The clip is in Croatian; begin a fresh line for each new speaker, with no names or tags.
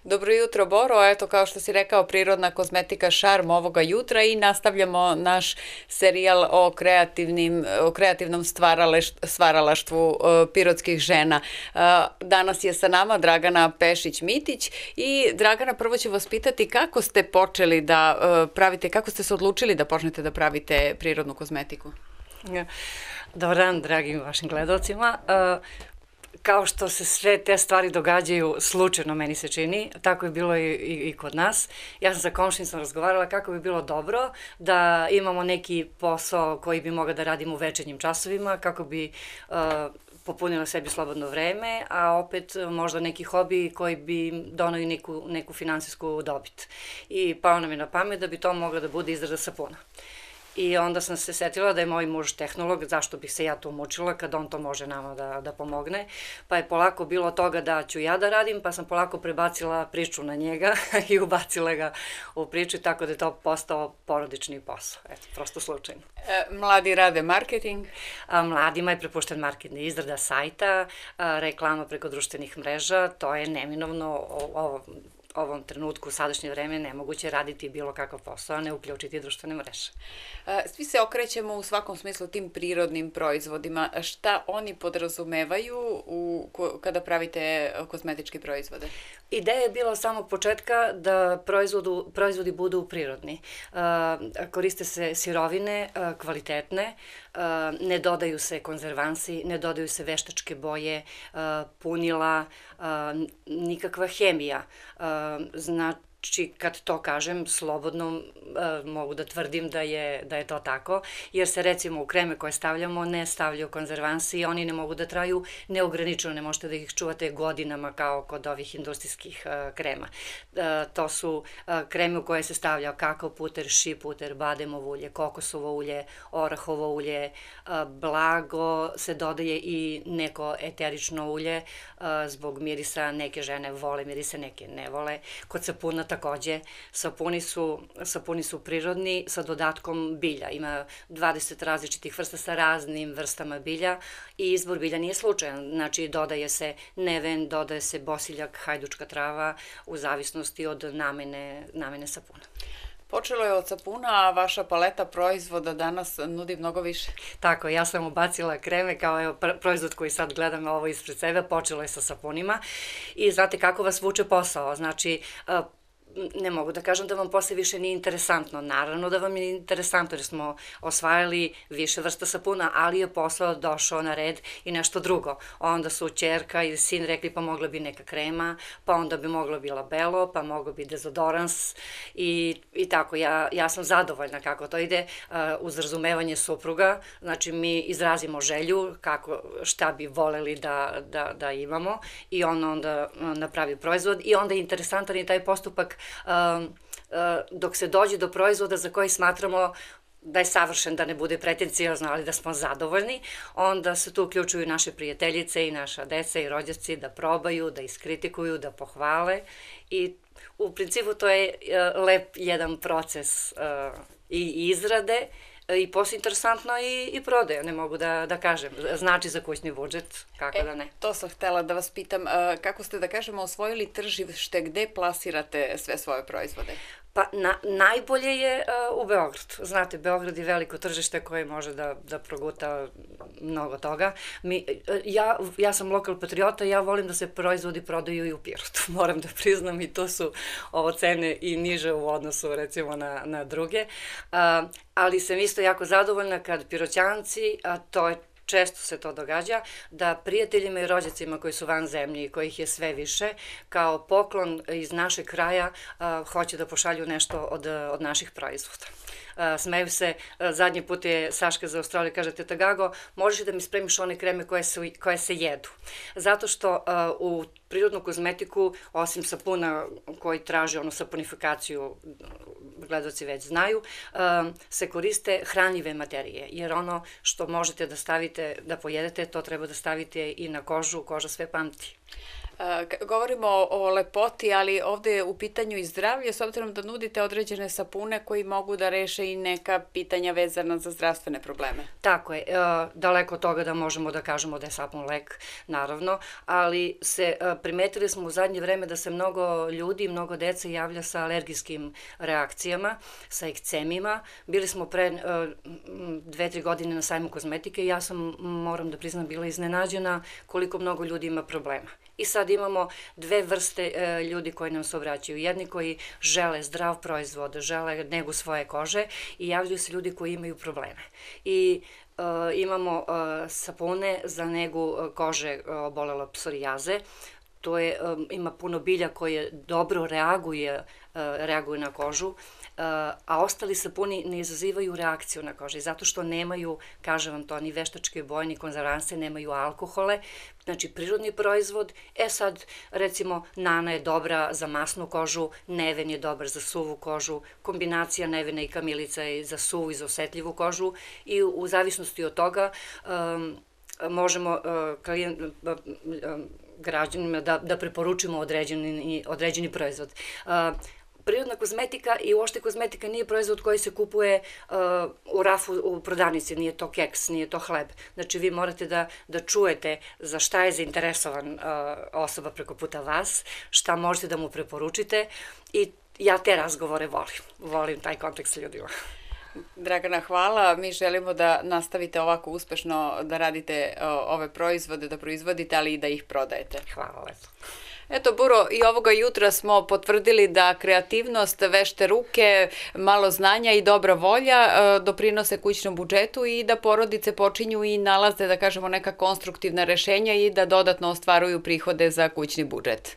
Dobro jutro, Boro. Eto, kao što si rekao, prirodna kozmetika šarm ovoga jutra i nastavljamo naš serijal o kreativnom stvaralaštvu pirotskih žena. Danas je sa nama Dragana Pešić-Mitić i Dragana, prvo ću vas pitati kako ste počeli da pravite, kako ste se odlučili da počnete da pravite prirodnu kozmetiku?
Dobar dan, dragim vašim gledalcima. Kao što se sve te stvari događaju slučajno, meni se čini, tako je bilo i kod nas. Ja sam sa komšinicom razgovarala kako bi bilo dobro da imamo neki posao koji bi mogao da radimo u večernjim časovima, kako bi popunila sebi slobodno vreme, a opet možda neki hobi koji bi donao i neku finansijsku dobit. I pao nam je na pamet da bi to mogla da bude izrada sapuna. I onda sam se setila da je moj muž tehnolog, zašto bih se ja tu mučila kad on to može nama da pomogne. Pa je polako bilo toga da ću ja da radim, pa sam polako prebacila priču na njega i ubacila ga u priču, tako da je to postao porodični posao. Eto, prosto slučajno.
Mladi rade marketing?
Mladima je prepušten marketing, izrada sajta, reklama preko društvenih mreža, to je neminovno ovom trenutku, u sadašnje vreme, nemoguće raditi bilo kakav posao, a ne uključiti društvene mreže.
Svi se okrećemo u svakom smislu tim prirodnim proizvodima. Šta oni podrazumevaju kada pravite kozmetičke proizvode?
Ideja je bila od samog početka da proizvodi budu prirodni. Koriste se sirovine kvalitetne, ne dodaju se konzervansi, ne dodaju se veštačke boje, punila, nikakva hemija. Znači, kad to kažem, slobodno mogu da tvrdim da je to tako, jer se recimo u kreme koje stavljamo ne stavljaju konzervansi i oni ne mogu da traju neograničeno, ne možete da ih čuvate godinama kao kod ovih industrijskih krema. To su kreme u koje se stavlja kakao puter, ši puter, bademovo ulje, kokosovo ulje, orahovo ulje, blago se dodaje i neko eterično ulje zbog mirisa, neke žene vole mirise, neke ne vole. Kod sapuna takođe, sapuni su prirodni sa dodatkom bilja. Ima 20 različitih vrsta sa raznim vrstama bilja i izbor bilja nije slučajan. Znači, dodaje se neven, dodaje se bosiljak, hajdučka trava u zavisnosti od namene sapuna.
Počelo je od sapuna, a vaša paleta proizvoda danas nudi mnogo više.
Tako, ja sam ubacila kreme kao proizvod koji sad gledam ovo ispred sebe, počelo je sa sapunima i znate kako vas vuče posao, znači ne mogu da kažem da vam posle više nije interesantno. Naravno da vam je interesantno jer smo osvajali više vrsta sapuna, ali je posao došao na red i nešto drugo. Onda su ćerka i sin rekli pa mogla bi neka krema, pa onda bi moglo bi labelo, pa moglo bi dezodorans i tako. Ja sam zadovoljna kako to ide uz razumevanje supruga. Znači mi izrazimo želju šta bi voleli da imamo i on onda napravi proizvod i onda je interesantan i taj postupak dok se dođe do proizvoda za koji smatramo da je savršen, da ne bude pretencijozno, ali da smo zadovoljni, onda se tu uključuju naše prijateljice i naša deca i rođaci da probaju, da iskritikuju, da pohvale i u principu to je lep jedan proces i izrade i posle interesantno i prodaje, ne mogu da kažem. Znači za kućni budžet, kako da ne.
To sam htela da vas pitam, kako ste, da kažemo, osvojili tržište, gde plasirate sve svoje proizvode?
Pa najbolje je u Beogradu. Znate, Beograd je veliko tržište koje može da proguta mnogo toga. Ja sam lokal patriota, ja volim da se proizvodi prodaju i u Pirotu. Moram da priznam i to su ovo cene i niže u odnosu recimo na druge. Ali sam isto jako zadovoljna kad Piroćanci, a to je često se to događa, da prijateljima i rođacima koji su van zemlje i kojih je sve više, kao poklon iz našeg kraja hoće da pošalju nešto od naših proizvoda. Smeju se, zadnji put je Saška za Australiju, kaže, teta Gago, možeš da mi spremiš one kreme koje se jedu. Zato što u prirodnu kozmetiku, osim sapuna koji traži onu saponifikaciju, gledaoci već znaju, se koriste hranljive materije, jer ono što možete da stavite, da pojedete, to treba da stavite i na kožu, koža sve pamti.
Govorimo o lepoti, ali ovde je u pitanju i zdravlje, s obzirom da nudite određene sapune koji mogu da reše i neka pitanja vezana za zdravstvene probleme.
Tako je, daleko od toga da možemo da kažemo da je sapun lek, naravno, ali primetili smo u zadnje vreme da se mnogo ljudi, mnogo dece javlja sa alergijskim reakcijama, sa ekcemima. Bili smo pre 2-3 godine na sajmu kozmetike i ja sam, moram da priznam, bila iznenađena koliko mnogo ljudi ima problema. I sad imamo dve vrste ljudi koji nam se obraćaju. Jedni koji žele zdrav proizvod, žele negu svoje kože i javljaju se ljudi koji imaju probleme. I imamo sapune za negu kože obolele psorijaze. Ima puno bilja koje dobro reaguju na kožu, a ostali sapuni ne izazivaju reakciju na koži, zato što nemaju, kažem vam to, ni veštačke boje, ni konzervanse, nemaju alkohole, znači prirodni proizvod. Sad, recimo, Nana je dobra za masnu kožu, Neven je dobar za suvu kožu, kombinacija Nevena i Kamilica je za suvu i za osetljivu kožu i u zavisnosti od toga možemo građanima da preporučimo određeni proizvod. Prirodna kozmetika i uopšte kozmetika nije proizvod koji se kupuje u rafu u prodavnici, nije to keks, nije to hleb. Znači vi morate da čujete za šta je zainteresovan osoba preko puta vas, šta možete da mu preporučite i ja te razgovore volim taj kontakt sa ljudima.
Dragana, hvala. Mi želimo da nastavite ovako uspešno da radite ove proizvode, da proizvodite, ali i da ih prodajete.
Hvala lepo.
Eto, Buro, i ovoga jutra smo potvrdili da kreativnost, vešte ruke, malo znanja i dobra volja doprinose kućnom budžetu i da porodice počinju i nalaze, da kažemo, neka konstruktivna rešenja i da dodatno ostvaruju prihode za kućni budžet.